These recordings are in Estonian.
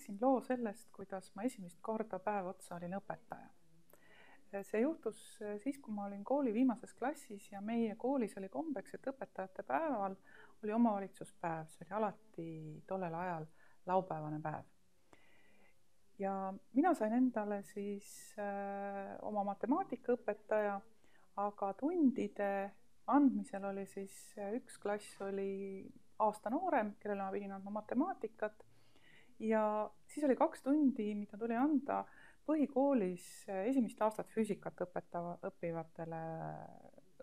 räägiksin loo sellest, kuidas ma esimest korda päev otsa olin õpetaja. See juhtus siis, kui ma olin kooli viimases klassis ja meie koolis oli kombeks, et õpetajate päeval oli omavalitsuspäev. See oli alati tollel ajal laupäevane päev. Ja mina sain endale siis oma matemaatikaõpetaja, aga tundide andmisel oli siis üks klass oli aasta noorem, kellele ma pidin andma matemaatikat. Ja siis oli 2 tundi, mida tuli anda põhikoolis esimest aastat füüsikat õppivatele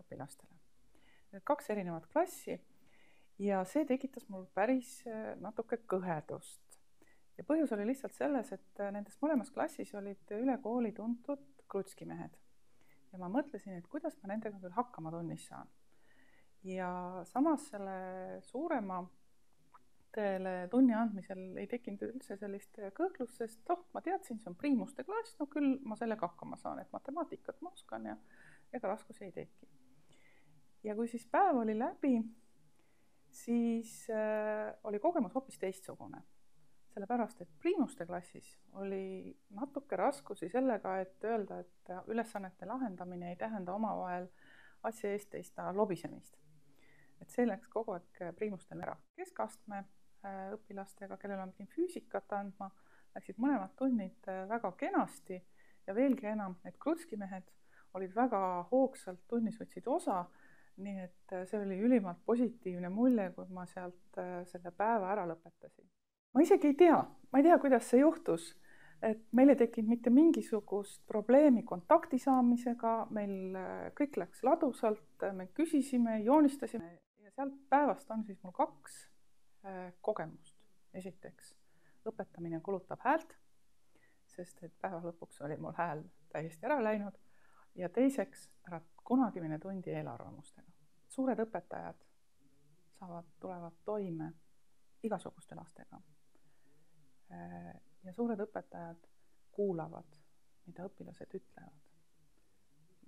õpilastele. Need 2 erinevat klassi ja see tekitas mul päris natuke kõhedust. Ja põhjus oli lihtsalt selles, et nendes mõlemas klassis olid üle kooli tuntud krutskimehed. Ja ma mõtlesin, et kuidas ma nendega küll hakkama tunnis saan. Ja samas selle suurema tunni andmisel ei tekkinud üldse sellist kõhklust, sest ma teadsin, see on priimuste klass, no küll ma sellega hakkama saan, et matemaatikat ma oskan ja ega raskusi ei teki. Ja kui siis päev oli läbi, siis oli kogemus hoopis teistsugune. Sellepärast, et priimuste klassis oli natuke raskusi sellega, et öelda, et ülesannete lahendamine ei tähenda omavahel asja eest teista lobisemist. Et see läks kogu aeg priimustel ära. Keskastme õpilastega, kellele ma pidin füüsikat andma, läksid mõlemad tunnid väga kenasti ja veelgi enam, need krutskimehed olid väga hoogsalt tunnis võtsid osa, nii et see oli ülimalt positiivne mulje, kui ma sealt selle päeva ära lõpetasin. Ma isegi ei tea, kuidas see juhtus, et meil ei tekkinud mitte mingisugust probleemi kontakti saamisega, meil kõik läks ladusalt, me küsisime, joonistasime ja sealt päevast on siis mul 2 kogemust. Esiteks, õpetamine kulutab häält, sest et päeva lõpuks oli mul hääl täiesti ära läinud. Ja teiseks, ära kunagi mine tundi eelarvamustega. Suured õpetajad tulevad toime igasuguste lastega. Ja suured õpetajad kuulavad, mida õpilased ütlevad.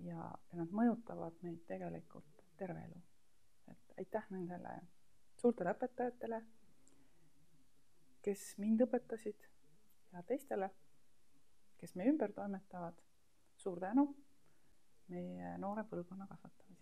Ja nad mõjutavad meid tegelikult terve elu. Et aitäh nendele suurtele õpetajatele, kes mind õpetasid ja teistele, kes meie ümber toimetavad. Suur tänu meie noore põlvkonna kasvatamisele.